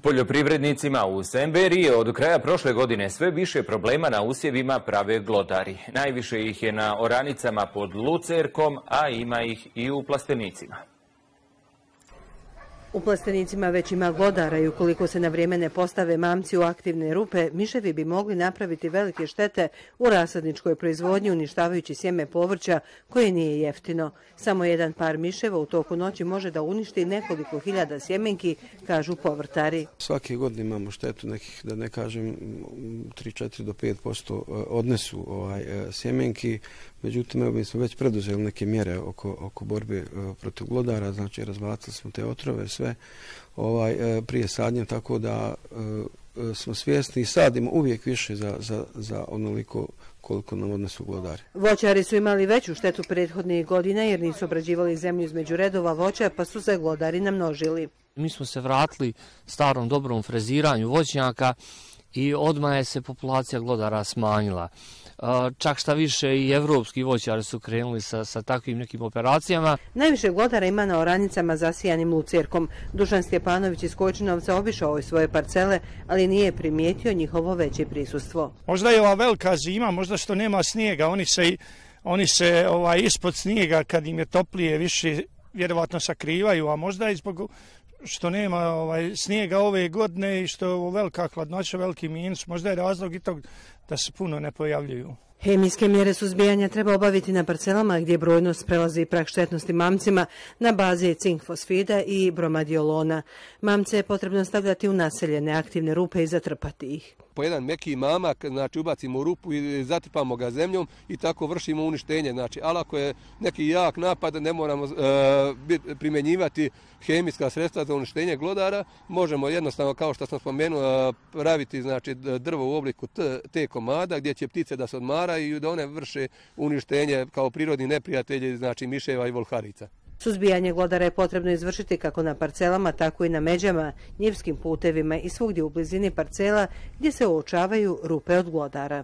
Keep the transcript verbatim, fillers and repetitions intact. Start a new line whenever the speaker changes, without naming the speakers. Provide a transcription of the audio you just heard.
Poljoprivrednicima u Semberiji od kraja prošle godine sve više problema na usjevima prave glodari. Najviše ih je na oranicama pod Lucerkom, a ima ih i u plastenicima.
U plastenicima već ima glodara i ukoliko se na vrijeme ne postave mamci u aktivne rupe, miševi bi mogli napraviti velike štete u rasadničkoj proizvodnji uništavajući sjeme povrća koje nije jeftino. Samo jedan par miševa u toku noći može da uništi nekoliko hiljada sjemenki, kažu povrtari.
Svake godine imamo štetu nekih, da ne kažem, tri, četiri do pet posto odnesu ovaj, sjemenki. Međutim, evo, mi smo već preduzeli neke mjere oko, oko borbe protiv glodara, znači razbacili smo te otrove sve ovaj, prije sadnje, tako da e, smo svjesni i sadimo uvijek više za, za, za onoliko koliko nam odnesu glodari.
Voćari su imali veću štetu prethodnih godina jer nisu obrađivali zemlju između redova voća, pa su se glodari namnožili.
Mi smo se vratili starom dobrom freziranju voćnjaka i odmah je se populacija glodara smanjila. Čak šta više i evropski voćari su krenuli sa, sa takvim nekim operacijama.
Najviše glodara ima na oranicama zasijanim lucerkom. Dušan Stjepanović iz Kojčinovca obišao je svoje parcele, ali nije primijetio njihovo veće prisustvo.
Možda je ova velika zima, možda što nema snijega, oni se, oni se ovaj, ispod snijega kad im je toplije više vjerovatno sakrivaju, a možda i zbog što nema ovaj, snijega ove godine i što je ovo velika hladnoća, veliki minus, možda je razlog i tog da se puno ne pojavljuju.
Hemijske mjere suzbijanja treba obaviti na parcelama gdje brojnost prelazi prag štetnosti mamcima na bazi cink fosfida i bromadiolona. Mamce je potrebno stavljati u naseljene aktivne rupe i zatrpati ih.
Po jedan meki mamak, znači ubacimo u rupu i zatrpamo ga zemljom i tako vršimo uništenje. Znači, ali ako je neki jak napad, ne moramo uh, primjenjivati hemijska sredstva za uništenje glodara, možemo jednostavno, kao što sam spomenuo, praviti znači, drvo u obliku t, te komada gdje će ptice da se odmaraju i da one vrše uništenje kao prirodni neprijatelji, znači miševa i volharica.
Suzbijanje glodara je potrebno izvršiti kako na parcelama, tako i na međama, njivskim putevima i svugdje u blizini parcela gdje se uočavaju rupe od glodara.